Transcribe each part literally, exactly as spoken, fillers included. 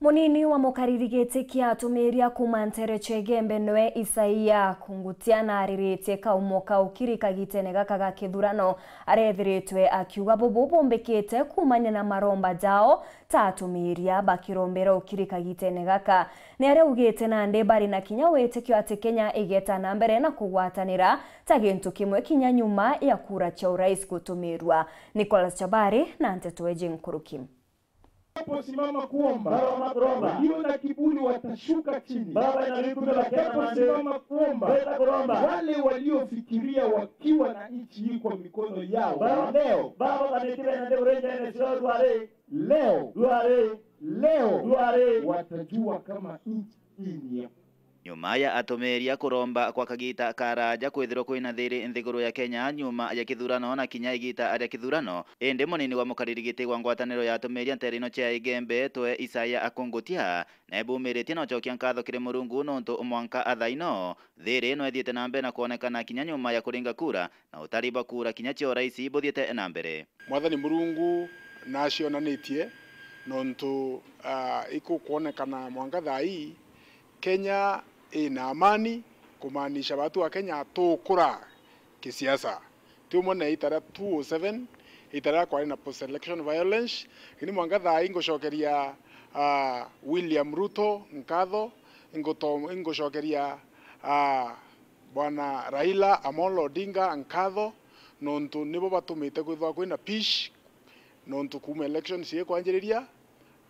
Munini wa mukariri giti kia atumiria kuuma nteere cia Igembe nwe Isaia Kungutia nariritie kaumo ka ukiri kagitene gaka ga kithurano arethiritwe akiuga bubu bumbikite kuumania na maromba jao ta atumiria bakirombera ukiri kagitene gaka. Ni aria augite nandi bari na kinya witikio ati Kenya igeta na mbere na kugwatanira ta gintu kimwe kinya nyuma ya kura cia urais gutumirwa. Nicholas Chabari na nteto eji nkuruki. Wanaposimama kuomba, Baba, wanapoomba, walio na kiburi watashuka chini. Baba, ina rikume bakena nande. Wanaposimama kuomba, beta kuromba. Wale waliofikiria wakiwa na nchi hii kwa mikono yao, Baba, leo, Baba, kanitire na nde urenja ene sio dware. Leo, dware, leo, dware, watajua kama nchi hii ni ya Nyuma ya atumiria kuromba kwa kagita karaaja kwithirwa kwina thiri nthiguru ya Kenya nyuma ya kithurano na kinya igita ria kithurano, indi munini wa mukariri giti wa ngwataniro ya atumiria nteere ino cia Igembe twe Isaia Akungutia nebumiritie na ucokia nkatho kiri Murungu nontu mwanka athaino thiri ino ithiite na mbere na kwonekana kinya nyuma ya kuringa kura na utari bwa kura kinya cia urais buthiite na mbere. Mwathani Murungu nacionanitie nontu, ah, ikukwonekana mwanka thaa ii Kenya ina amani, kumaanisha batu a Kenya tukura kisiasa. Ti umwe na ita ria two oh seven, ita riria kwari na post election violence. Lakini mwanka thaa ii ngucokeria, ah, William Ruto nkatho, inguto-, ingucokeria, ah, Bwana Raila Amolo Odinga nkatho, nontu nibo batumite kwithirwa kwina peace, nontu kuuma election ciikwanjiriria,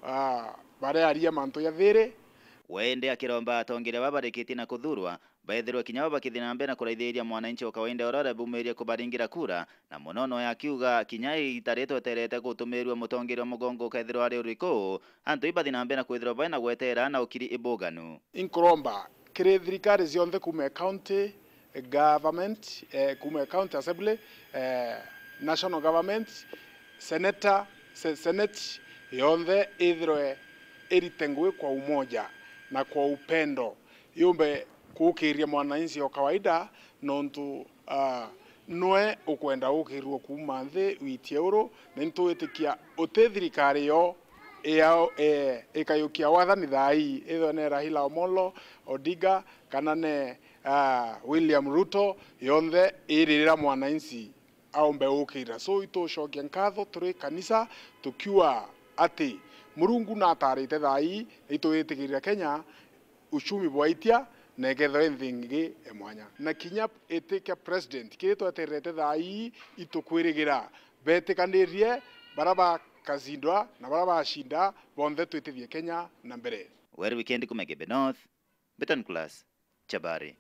ah, barearia mantu ja thiri. We indi akiromba atongeria baba barikitie na kuthurwa, baithirwe kinya bo bakithii na mbere na kuraithiria mwananchi wa kawaida uria urebumirie kubaringira kura, na muno noe akiuga kinya igita rii tweterete gutumirua mutongeria wa mugongo ukethirwa ari uriku, antu ibathii na mbere na kwithirwa baina gwetera na ukiri ibuganu. Inkuromba kiri thirikari cionthe kuuma county government, eh, kuuma county assembly, eh, national government, senator, se-, senate yonthe ithirwe irite ngui kwa umoja na kwa upendo, yumbe kuukiria mwananchi o kawaida, nontu, ah, nwe ukwenda ukirirwa kuuma nthi witie uru, na intwitikia uti thirikari yo iyao, eh, ikayukia wathani thaa ii, ithwe ne Raila Omolo Odinga kana ne, ah, William Ruto, yonthe iririra mwananchi aumbe ukira. So, itucokia nkatho turi kanisa tukiuga ati Murungu natarite thaa ii, na itwitikirira Kenya uchumi bwaitia na ikethirwa i nthi ingi ya mwanya. Na kinya iti kia president, kiri twetererete thaa ii, itukwirigira betikanirie, baria bakacindwa na baria bacinda, bonthe twitithie Kenya na mbere. Weru Weekend kuuma Igembe North, Beton Class, Chabari.